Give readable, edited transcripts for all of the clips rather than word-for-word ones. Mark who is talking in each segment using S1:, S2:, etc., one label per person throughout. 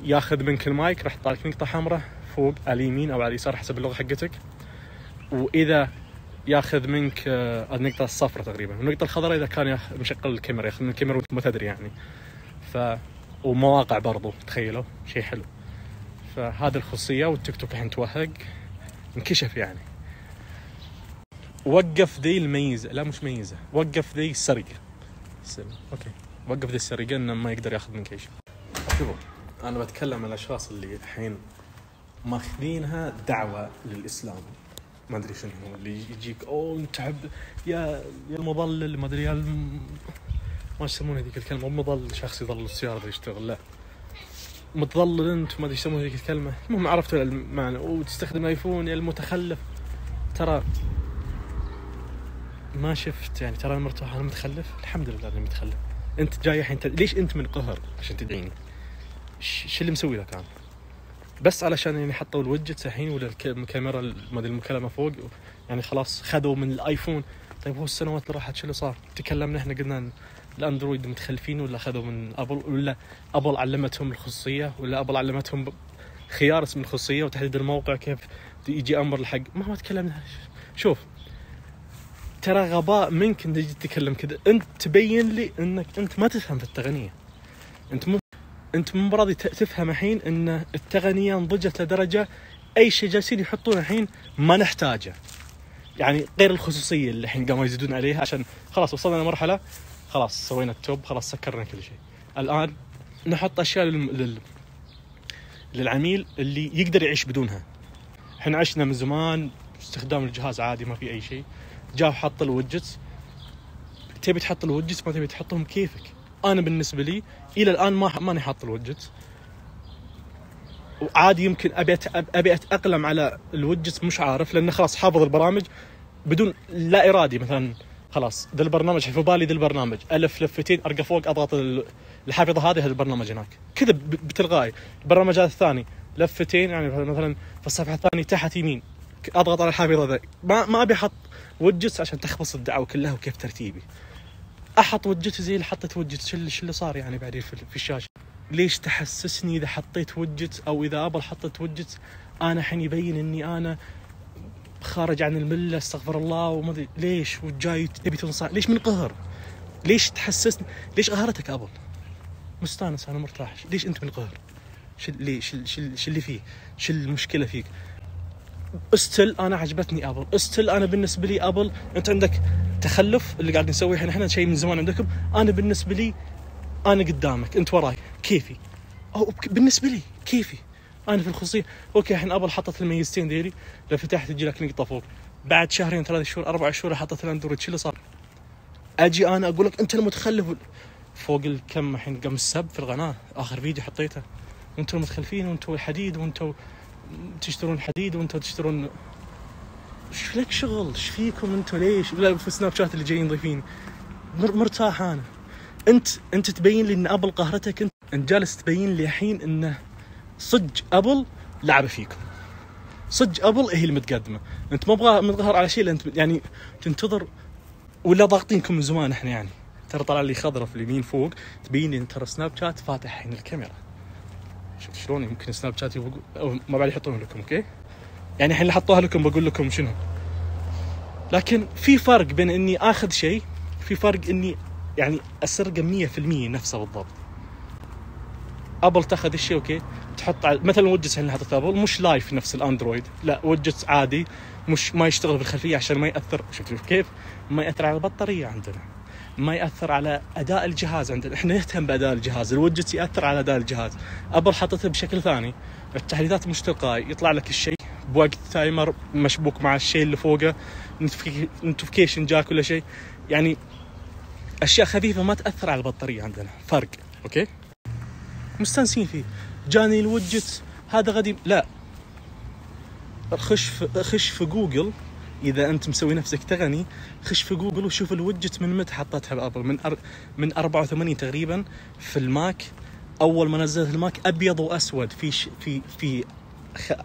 S1: ياخذ منك المايك راح يطلع لك نقطة حمراء فوق على اليمين أو على اليسار حسب اللغة حقتك، وإذا ياخذ منك النقطة الصفراء تقريبا، والنقطة الخضراء إذا كان مشغل الكاميرا، ياخذ من الكاميرا وأنت ما تدري يعني. ومواقع برضو تخيلوا شيء حلو. فهذه الخصوصية. والتيك توك الحين توهق انكشف يعني. وقف ذي الميزة، لا مش ميزة، وقف ذي السرقة. اوكي وقف ذي السرقة انه ما يقدر ياخذ منك اي شيء. شوفوا انا بتكلم عن الاشخاص اللي الحين ماخذينها دعوة للاسلام، ما ادري شنو هو اللي يجيك انت تحب يا المضلل ما ادري ما يسمون هذيك الكلمة، مو مضلل شخص يضل السيارة يشتغل، لا متضلل انت ما ادري يسمون هذيك الكلمة. المهم عرفتوا المعنى. وتستخدم ايفون يا المتخلف. ترى ما شفت يعني، ترى مرتاح انا متخلف، الحمد لله اني متخلف. انت جاي الحين ليش انت من قهر عشان تدعيني؟ شو اللي مسوي لك انا؟ بس علشان يعني حطوا الويدجت الحين ولا الكاميرا ما ادري المكالمه فوق يعني خلاص خذوا من الايفون. طيب هو السنوات اللي راحت شو اللي صار؟ تكلمنا احنا قلنا الاندرويد متخلفين ولا اخذوا من ابل، ولا ابل علمتهم الخصوصيه، ولا ابل علمتهم خيار اسم الخصوصيه وتحديد الموقع كيف يجي امر الحق. ما تكلمنا. شوف ترى غباء منك ان تجي تتكلم كذا. انت تبين لي انك انت ما تفهم في التقنيه. انت مو براضي تفهم الحين ان التقنيه نضجت لدرجه اي شيء جالسين يحطونه الحين ما نحتاجه، يعني غير الخصوصيه اللي الحين قاموا يزيدون عليها عشان خلاص وصلنا لمرحله خلاص سوينا التوب، خلاص سكرنا كل شيء. الان نحط اشياء للعميل اللي يقدر يعيش بدونها. احنا عشنا من زمان استخدام الجهاز عادي ما في اي شيء، جاء حط الويدجتس. تبي تحط الويدجتس ما تبي تحطهم كيفك. انا بالنسبه لي الى الان ماني حاط الويدجتس، وعادي يمكن ابي اتاقلم على الويدجتس مش عارف، لان خلاص حافظ البرامج بدون لا ارادي. مثلا خلاص ذا البرنامج في بالي، ذا البرنامج الف لفتين ارقى فوق اضغط الحافظه هذه البرنامج هناك كذا بتلغائي. البرنامج هذا الثاني لفتين يعني مثلا في الصفحه الثانيه تحت يمين اضغط على الحافظه ذا. ما ابي احط ويدجتس عشان تخبص الدعوه كلها وكيف ترتيبي. احط ويدجت زي اللي حطيت ويدجت. شو اللي صار يعني بعدين في الشاشه؟ ليش تحسسني اذا حطيت ويدجت او اذا ابل حطيت ويدجت انا الحين يبين اني انا خارج عن المله استغفر الله وما ادري ليش وجاي تبي تنصح؟ ليش من قهر؟ ليش تحسسني؟ ليش قهرتك ابل؟ مستانس انا مرتاح. ليش انت من قهر؟ شو اللي فيه؟ شو المشكله فيك؟ استل انا عجبتني ابل، استل انا بالنسبه لي ابل. انت عندك تخلف اللي قاعد نسويه احنا شيء من زمان عندكم. انا بالنسبه لي انا قدامك انت وراي كيفي، او بالنسبه لي كيفي انا في الخصوصيه. اوكي الحين ابل حطت الميزتين ديري، لو فتحت تجي لك نقطه فوق. بعد شهرين 3 شهور 4 شهور حطت الاندرويد. شو اللي صار؟ اجي انا اقول لك انت المتخلف فوق الكم. الحين قام السب في القناه اخر فيديو حطيته، وانتم المتخلفين وانتم الحديد وانتم تشترون حديد وانتم تشترون. ايش لك شغل؟ ايش فيكم انتم؟ ليش لا في سناب شات اللي جايين ضيفين؟ مرتاح انا. انت تبين لي ان ابل قهرتك. انت جالس تبين لي الحين انه صدق ابل لعبه فيكم، صدق ابل هي اللي متقدمه. انت ما متظاهر على شيء، انت يعني تنتظر ولا ضاغطينكم من زمان. احنا يعني ترى طلع لي خضره في اليمين فوق تبين لي ترى سناب شات فاتح الحين الكاميرا. شوف شلون يمكن سناب شات ما بعد يحطون لكم. اوكي يعني الحين اللي حطوها لكم بقول لكم شنو. لكن في فرق بين اني اخذ شيء، في فرق اني يعني اسرقه 100% نفسه بالضبط. ابل تاخذ الشيء اوكي تحط مثلا ويدجتس اللي حطت ابل مش لايف نفس الاندرويد، لا ويدجتس عادي مش ما يشتغل بالخلفيه عشان ما ياثر. شوف كيف ما ياثر على البطاريه عندنا، ما ياثر على اداء الجهاز عندنا. احنا نهتم باداء الجهاز، الويدجت ياثر على اداء الجهاز. ابل حطته بشكل ثاني، التحديثات مش تلقائي، يطلع لك الشيء بوقت تايمر مشبوك مع الشيء اللي فوقه، نوتيفيكيشن جاك ولا شيء، يعني اشياء خفيفه ما تاثر على البطاريه عندنا. فرق اوكي مستانسين فيه. جاني الويدجت هذا غدي، لا خش في جوجل اذا انت مسوي نفسك تغني، خش في جوجل وشوف الويدجت من متى حطتها بابل. من 84 تقريبا في الماك. اول ما نزلت الماك ابيض واسود في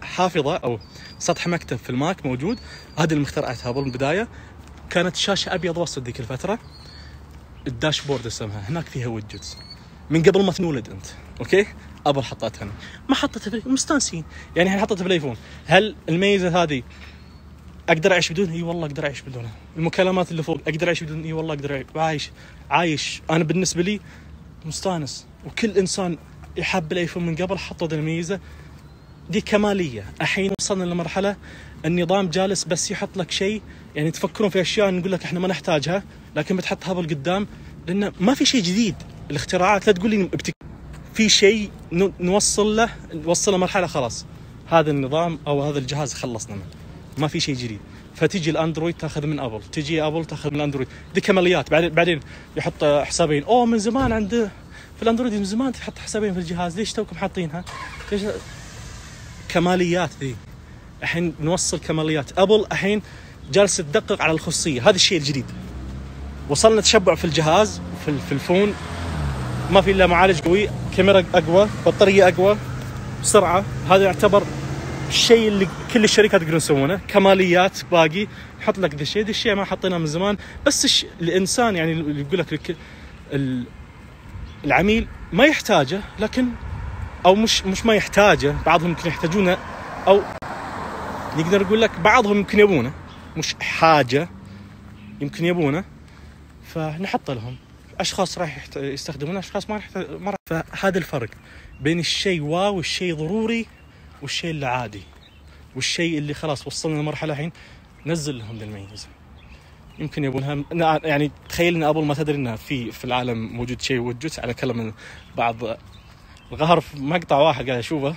S1: حافظه او سطح مكتب في الماك موجود. هذه اللي مخترعتها ابل من البدايه. كانت شاشه ابيض واسود ذيك الفتره، الداشبورد اسمها، هناك فيها ويدجتس من قبل ما تنولد انت. اوكي ابل حطتها هنا، ما حطتها في مستانسين. يعني الحين حطتها في الايفون، هل الميزه هذه اقدر اعيش بدونها؟ اي والله اقدر اعيش بدونها. المكالمات اللي فوق اقدر اعيش بدونها؟ اي والله اقدر عايش. انا بالنسبه لي مستانس. وكل انسان يحب الايفون من قبل حطوا الميزه دي كماليه. الحين وصلنا لمرحله النظام جالس بس يحط لك شيء، يعني تفكرون في اشياء نقول لك احنا ما نحتاجها، لكن بتحط هابل قدام لانه ما في شيء جديد. الاختراعات لا تقول لي في شيء نوصل له مرحله خلاص هذا النظام او هذا الجهاز خلصنا منه، ما في شيء جديد. فتجي الاندرويد تاخذ من ابل، تجي ابل تاخذ من الاندرويد. دي كماليات. بعدين يحط حسابين. من زمان عنده في الاندرويد، من زمان تحط حسابين في الجهاز، ليش توكم حاطينها؟ ليش؟ كماليات ذي. الحين نوصل كماليات. ابل الحين جالسه تدقق على الخصوصيه، هذا الشيء الجديد. وصلنا تشبع في الجهاز، في الفون ما في الا معالج قوي، كاميرا اقوى، بطاريه اقوى، سرعه. هذا يعتبر الشيء اللي كل الشركات يقدرون يسوونه. كماليات باقي يحط لك ذا الشيء ما حطيناه من زمان. بس الانسان يعني اللي يقول لك العميل ما يحتاجه، لكن او مش ما يحتاجه، بعضهم يمكن يحتاجونه، او نقدر نقول لك بعضهم يمكن يبونه، مش حاجه، يمكن يبونه، فنحط لهم. اشخاص راح يستخدمونه، اشخاص ما راح. فهذا الفرق بين الشيء واو والشيء ضروري والشيء اللي عادي والشيء اللي خلاص وصلنا لمرحله الحين نزل لهم الميزه. يمكن يبونها. يعني تخيل ان ابل ما تدري انها في العالم موجود شيء وجت على كلام بعض القهر في مقطع واحد قاعد اشوفه،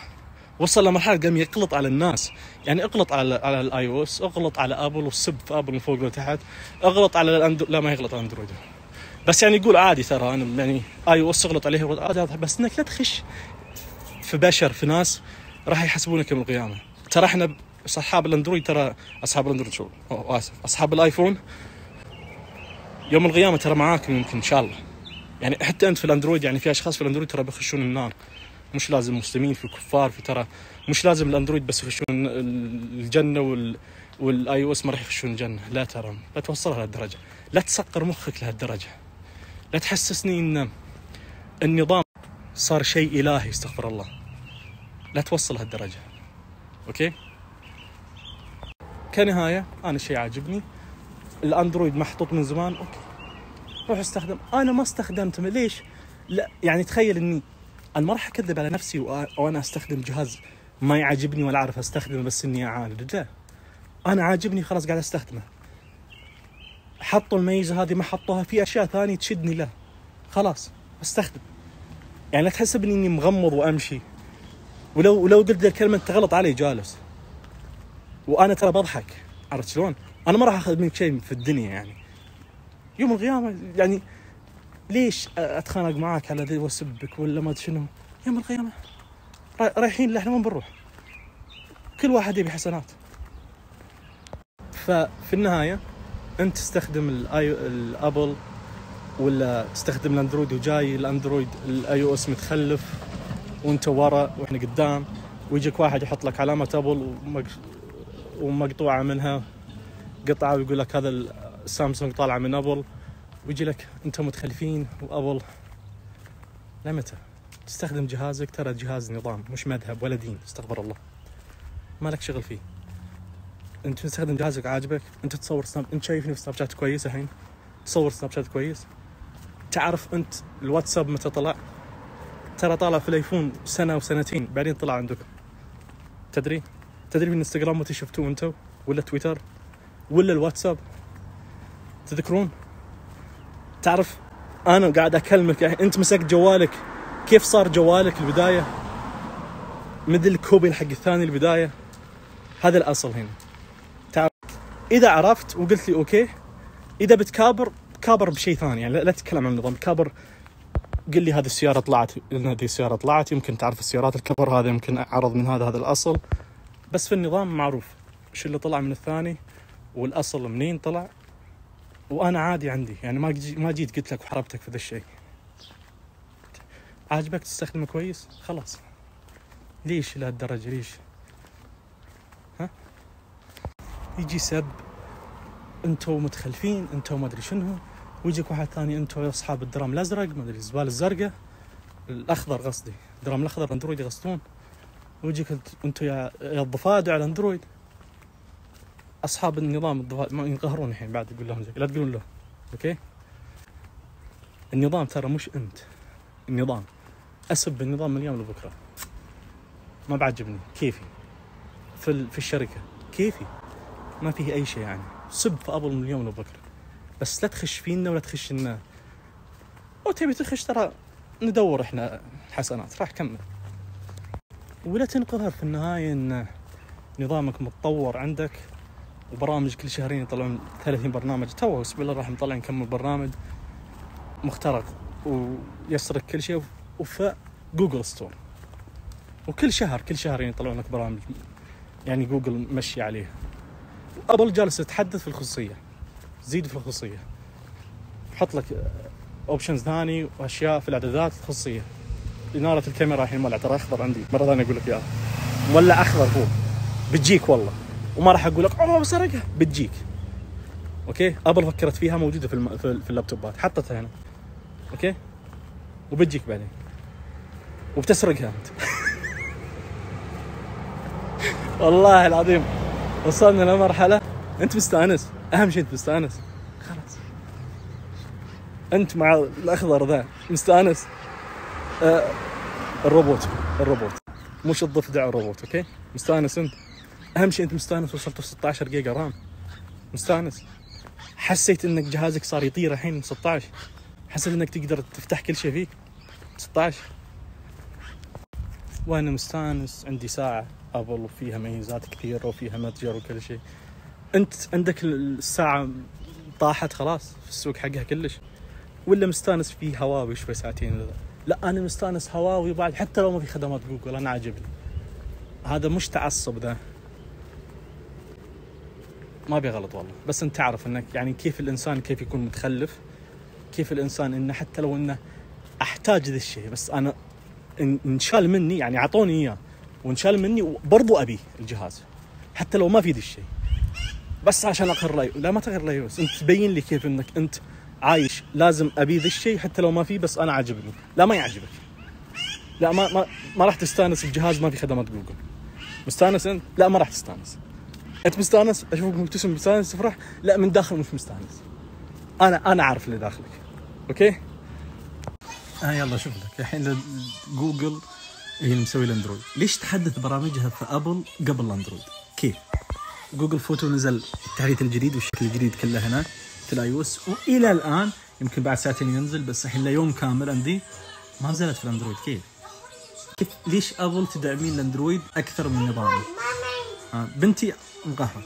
S1: وصل لمرحله قام يقلط على الناس. يعني اغلط على الاي او اس، اغلط على ابل وسب في ابل من فوق لتحت، اغلط على لا ما يغلط على اندرويد، بس يعني يقول عادي ترى انا يعني اي او اس اغلط عليه عادي. بس انك لا تخش في بشر، في ناس راح يحسبونك يوم القيامه. ترى احنا اصحاب الاندرويد، ترى اصحاب الاندرويد شو اسف اصحاب الايفون يوم القيامه ترى معاكم يمكن ان شاء الله. يعني حتى انت في الاندرويد، يعني في اشخاص في الاندرويد ترى بيخشون النار. مش لازم مسلمين، في كفار، في ترى مش لازم الاندرويد بس يخشون الجنه والاي او اس ما راح يخشون الجنه. لا ترى لا توصلها لهالدرجه، لا تسقر مخك لهالدرجه، لا تحسسني ان النظام صار شيء الهي، استغفر الله. لا توصل هالدرجه. اوكي. كنهايه انا شيء عاجبني الاندرويد محطوط من زمان. اوكي روح استخدم. انا ما استخدمته. ليش؟ لا يعني تخيل اني انا ما راح اكذب على نفسي وانا استخدم جهاز ما يعجبني ولا اعرف استخدمه بس اني اعاند. لا انا عاجبني خلاص قاعد استخدمه. حطوا الميزه هذه، ما حطوها في اشياء ثانيه تشدني له، خلاص استخدم. يعني لا تحسبني اني مغمض وامشي. ولو قلت الكلمه انت غلط علي جالس، وانا ترى بضحك. عرفت شلون؟ انا ما راح اخذ منك شيء في الدنيا. يعني يوم القيامه يعني ليش اتخانق معاك على ذي واسبك ولا ما ادري شنو؟ يوم القيامه رايحين احنا وين بنروح؟ كل واحد يبي حسنات. ففي النهايه انت تستخدم الابل ولا تستخدم الاندرويد، وجاي الاندرويد الاي او اس متخلف وانت ورا واحنا قدام، ويجيك واحد يحط لك علامه ابل ومقطوعه منها قطعه ويقول لك هذا السامسونج طالعه من ابل، ويجي لك انت متخلفين وابل. لمتى تستخدم جهازك؟ ترى جهاز نظام مش مذهب ولا دين، استغفر الله، ما لك شغل فيه. انت تستخدم جهازك عاجبك، انت تصور سناب، انت شايفني في سناب شات كويس الحين، تصور سناب شات كويس. تعرف انت الواتساب متى طلع؟ ترى طالع في الايفون سنه وسنتين بعدين طلع عندكم. تدري بالانستغرام متى شفتوه انتو؟ ولا تويتر ولا الواتساب؟ تذكرون؟ تعرف انا قاعد اكلمك يعني انت مسكت جوالك، كيف صار جوالك البدايه مثل الكوبي حق الثاني البدايه؟ هذا الاصل هنا. تعرف اذا عرفت وقلت لي اوكي، اذا بتكابر كابر بشيء ثاني، يعني لا تتكلم عن النظام. كابر قل لي هذه السياره طلعت، هذه السياره طلعت، يمكن تعرف السيارات الكبر هذا يمكن عرض من هذا الاصل، بس في النظام معروف ايش اللي طلع من الثاني والاصل منين طلع. وانا عادي عندي، يعني ما جيت قلت لك وحربتك في ذا الشيء. عاجبك تستخدمه كويس خلاص. ليش لهالدرجه؟ ليش يجي سب انتو متخلفين، انتو ما ادري شنو، ويجيك واحد ثاني انتو اصحاب الدرام الازرق، ما ادري الزبال الزرقاء الاخضر قصدي، درام الاخضر اندرويد يغسطون، ويجيك انتم يا الضفادع على اندرويد. اصحاب النظام الضفادع ما ينقهرون الحين بعد، يقول لهم لا تقولون له. اوكي النظام ترى مش انت، النظام. اسب النظام من اليوم لبكره، ما بعجبني كيفي في الشركه، كيفي ما فيه اي شيء يعني. سب في ابل من اليوم لبكره، بس لا تخش فينا ولا تخش لنا. وتبي تخش ترى ندور احنا حسنات، راح كمل. ولا تنقهر في النهايه ان نظامك متطور عندك وبرامج كل شهرين يطلعون 30 برنامج. تو بسم الله الرحمن طلع نكمل برنامج مخترق ويسرق كل شيء وفي جوجل ستور، وكل شهرين يطلعون لك برامج يعني جوجل مشي عليه. ابل جالس تتحدث في الخصوصيه، زيد في الخصوصيه، حط لك اوبشنز ثاني واشياء في الاعدادات الخصوصيه. اناره الكاميرا الحين مولع، ترى اخضر عندي مره ثانيه اقول لك اياها، مولع اخضر فوق بتجيك والله، وما راح اقول لك بسرقها، بتجيك. اوكي ابل فكرت فيها، موجوده في اللابتوبات، حطتها هنا. اوكي وبتجيك بعدين وبتسرقها انت. والله العظيم وصلنا لمرحله انت مستانس، اهم شيء انت مستانس، خلاص انت مع الاخضر ذا مستانس. الروبوت مش الضفدع، الروبوت. اوكي مستانس انت، اهم شيء انت مستانس. وصلت 16 جيجا رام، مستانس. حسيت انك جهازك صار يطير الحين 16، حسيت انك تقدر تفتح كل شيء فيه 16. وانا مستانس، عندي ساعه ابل وفيها ميزات كثيره وفيها متجر وكل شيء. انت عندك الساعه طاحت خلاص في السوق حقها كلش، ولا مستانس فيه هواوي شوي ساعتين؟ لا انا مستانس هواوي بعد حتى لو ما في خدمات جوجل، انا عاجبني. هذا مش تعصب، ذا ما بيغلط والله، بس انت تعرف انك يعني كيف الانسان كيف يكون متخلف، كيف الانسان انه حتى لو انه احتاج ذا الشيء، بس انا انشال مني يعني اعطوني اياه وانشال مني وبرضو ابي الجهاز حتى لو ما في ذا الشيء، بس عشان اغير رايي. لا ما تغير رايي، بس انت تبين لي كيف انك انت عايش لازم ابي ذا الشيء حتى لو ما في، بس انا عاجبني. لا ما يعجبك، لا ما راح تستانس بجهاز ما في خدمات جوجل. مستانس انت؟ لا ما راح تستانس. انت مستانس، اشوفك مبتسم مستانس تفرح، لا من داخل مش مستانس. انا عارف اللي داخلك. اوكي يلا شوف لك الحين جوجل هي اللي مسوي الاندرويد. ليش تحدث برامجها في ابل قبل الاندرويد؟ كيف؟ جوجل فوتو نزل التحديث الجديد والشكل الجديد كله هنا في الاي او اس، والى الان يمكن بعد ساعتين ينزل، بس الحين ليوم كامل عندي ما نزلت في الاندرويد. كيف ليش ابل تدعمين الاندرويد اكثر من نظامي؟ بنتي مقهرة.